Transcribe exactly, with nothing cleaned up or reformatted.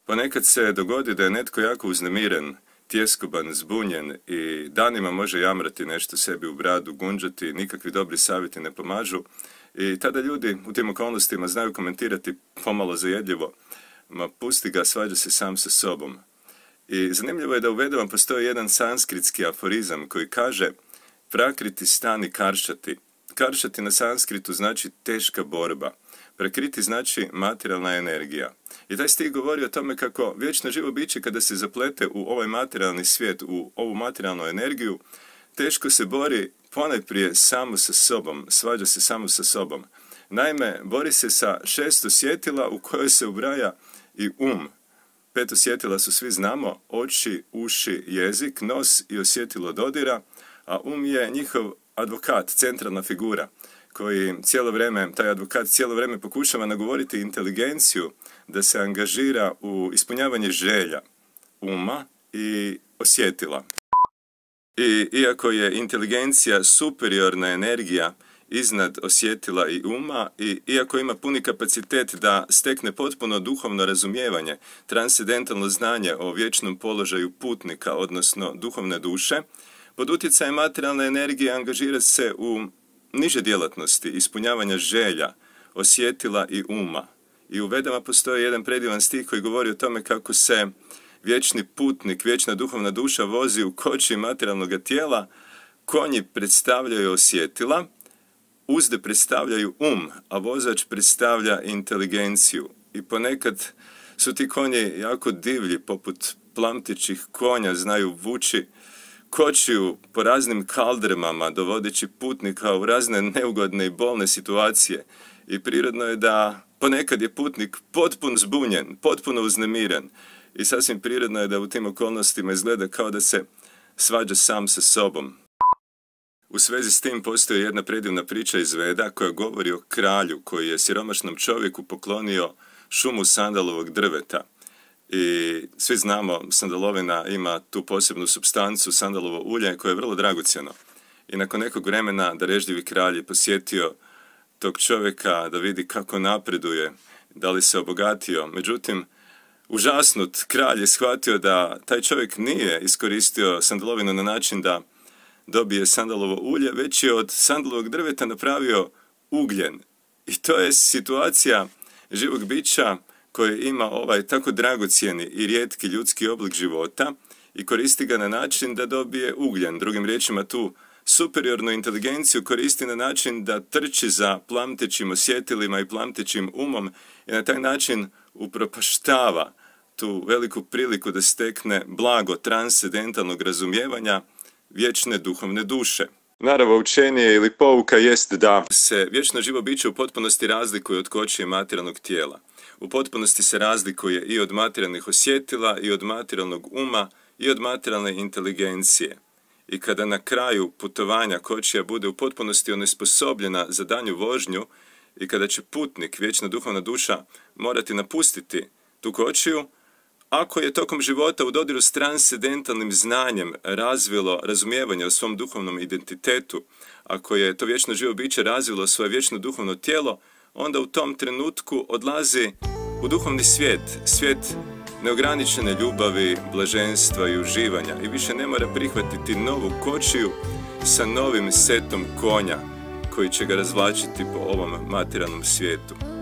Ponekad se dogodi da je netko jako uznemiren, tjeskoban, zbunjen i danima može jamrati nešto sebi u bradu, gunđati, nikakvi dobri savjeti ne pomažu i tada ljudi u tim okolnostima znaju komentirati pomalo zajedljivo: ma pusti ga, svađa se sam sa sobom. I zanimljivo je da u Vedama postoji jedan sanskritski aforizam koji kaže: prakriti stani karšati. Karšati na sanskritu znači teška borba. Prakriti znači materijalna energija. I taj stih govori o tome kako vječno živo biće kada se zaplete u ovaj materijalni svijet, u ovu materijalnu energiju, teško se bori ponajprije samo sa sobom, svađa se samo sa sobom. Naime, bori se sa šest osjetila u kojoj se ubraja i um. Pet osjetila su, svi znamo, oči, uši, jezik, nos i osjetilo dodira, a um je njihov advokat, centralna figura, koji cijelo vrijeme, taj advokat cijelo vrijeme pokušava nagovoriti inteligenciju da se angažira u ispunjavanje želja uma i osjetila. I iako je inteligencija superiorna energija iznad osjetila i uma, i iako ima puni kapacitet da stekne potpuno duhovno razumijevanje, transcendentalno znanje o vječnom položaju putnika, odnosno duhovne duše, pod utjecajem materijalne energije angažira se u niže djelatnosti, ispunjavanja želja, osjetila i uma. I u Vedama postoji jedan predivan stih koji govori o tome kako se vječni putnik, vječna duhovna duša vozi u koči materijalnog tijela, konji predstavljaju osjetila, uzde predstavljaju um, a vozač predstavlja inteligenciju. I ponekad su ti konji jako divlji, poput plamtićih konja, znaju vući kočiju po raznim kaldrmama, dovodeći putnika u razne neugodne i bolne situacije. I prirodno je da ponekad je putnik potpuno zbunjen, potpuno uznemiren. I sasvim prirodno je da u tim okolnostima izgleda kao da se svađa sam sa sobom. U svezi s tim postoji jedna predivna priča iz Veda koja govori o kralju koji je siromašnom čovjeku poklonio šumu sandalovog drveta. I svi znamo, sandalovina ima tu posebnu supstancu, sandalovo ulje, koje je vrlo dragocjeno. I nakon nekog vremena darežljivi kralj je posjetio tog čovjeka da vidi kako napreduje, da li se obogatio. Međutim, užasnut, kralj je shvatio da taj čovjek nije iskoristio sandalovinu na način da dobije sandalovo ulje, već je od sandalovog drveta napravio ugljen. I to je situacija živog bića koji ima ovaj tako dragocjeni i rijetki ljudski oblik života i koristi ga na način da dobije ugljen. Drugim riječima, tu superiornu inteligenciju koristi na način da trči za plamtećim osjetilima i plamtećim umom i na taj način upropaštava tu veliku priliku da stekne blago transcendentalnog razumijevanja vječne duhovne duše. Naravno, učenje ili pouka jest da se vječno živo biće u potpunosti razlikuje od kočije materijalnog tijela. U potpunosti se razlikuje i od materijalnih osjetila, i od materijalnog uma, i od materijalne inteligencije. I kada na kraju putovanja kočija bude u potpunosti onesposobljena za danju vožnju i kada će putnik, vječna duhovna duša, morati napustiti tu kočiju, ako je tokom života u dodiru s transcendentalnim znanjem razvilo razumijevanje o svom duhovnom identitetu, ako je to vječno živo biće razvilo svoje vječno duhovno tijelo, onda u tom trenutku odlazi u duhovni svijet, svijet neograničene ljubavi, blaženstva i uživanja i više ne mora prihvatiti novu kočiju sa novim setom konja koji će ga razvlačiti po ovom materijalnom svijetu.